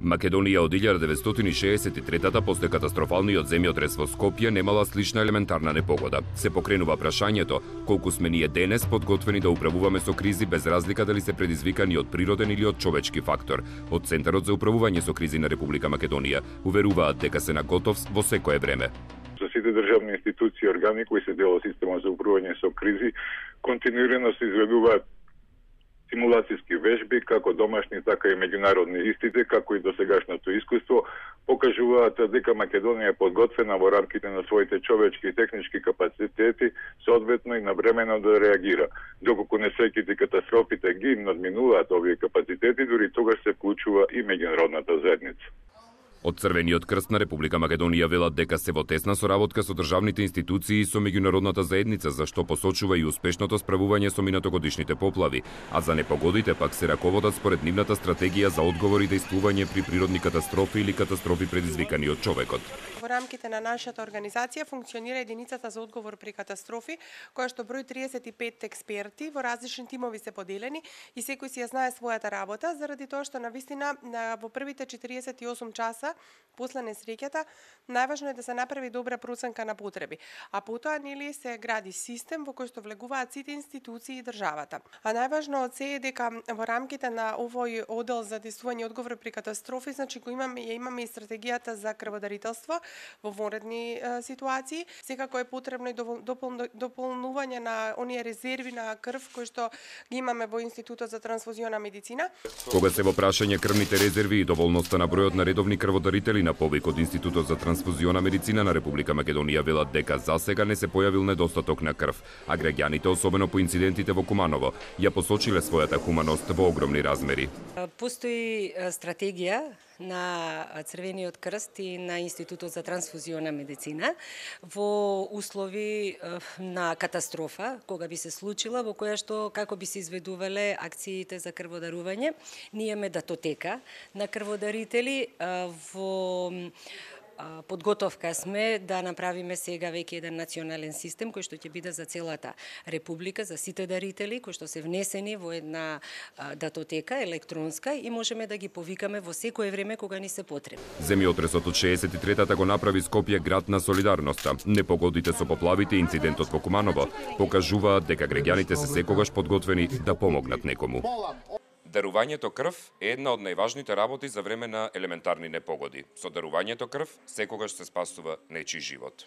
Македонија од 1963-та после катастрофалниот земјотрес во Скопје немала слична елементарна непогода. Се покренува прашањето колку сме ние денес подготвени да управуваме со кризи без разлика дали се предизвикани од природен или од човечки фактор. Од Центарот за управување со кризи на Република Македонија уверуваат дека се на готов во секое време. За сите државни институции и органи кои се дел од системот за управување со кризи, континуирано се изведуваат симулацијски вежби, како домашни, така и меѓународни истите, како и досегашното искуство, покажуваат дека Македонија е подготвена во рамките на своите човечки и технички капацитети, соодветно и навремено да реагира. Доколку несреќите катастрофите ги надминуваат овие капацитети, дури тогаш се вклучува и меѓународната заедница. Од Црвениот крст на Република Македонија велат дека се во тесна соработка со државните институции и со меѓународната заедница, за што посочува и успешното справување со минатогодишните поплави, а за непогодите пак се раководат според нивната стратегија за одговор и действување при природни катастрофи или катастрофи предизвикани од човекот. Во рамките на нашата организација функционира единицата за одговор при катастрофи, која што брои 35 експерти, во различни тимови се поделени и секој си ја знае својата работа, заради тоа што навистина во првите 48 часа после несреќата, најважно е да се направи добра проценка на потреби, а потоа нели се гради систем во кој што влегуваат сите институции и државата. А најважно од се е дека во рамките на овој оддел за действување и одговор при катастрофи, значи го имаме и стратегијата за крводарителство во вонредни ситуации. Секако е потребно и дополнување на оние резерви на крв кои што ги имаме во Институтот за трансфузиона медицина. Кога се во прашање крвните резерви и доволноста на бројот на редовни крводарители на повик од Институтот за трансфузиона медицина на Република Македонија велат дека засега не се појавил недостаток на крв, а граѓаните, особено по инцидентите во Куманово, ја посочиле својата хуманост во огромни размери. Постои стратегија на Црвениот крст и на Институтот за трансфузиона медицина во услови на катастрофа, кога би се случила, во која што како би се изведувале акциите за крводарување. Ние имаме датотека на крводарители, во подготовка сме да направиме сега веќе еден национален систем кој што ќе биде за целата република, за сите дарители кои што се внесени во една датотека електронска и можеме да ги повикаме во секое време кога ни се потребни. Земјотресот од 63-та го направи Скопје град на солидарноста. Непогодите со поплавите и инцидентот во Куманово покажуваат дека граѓаните се секогаш подготвени да помогнат некому. Дарувањето крв е една од најважните работи за време на елементарни непогоди. Со дарувањето крв секогаш се спасува нечи живот.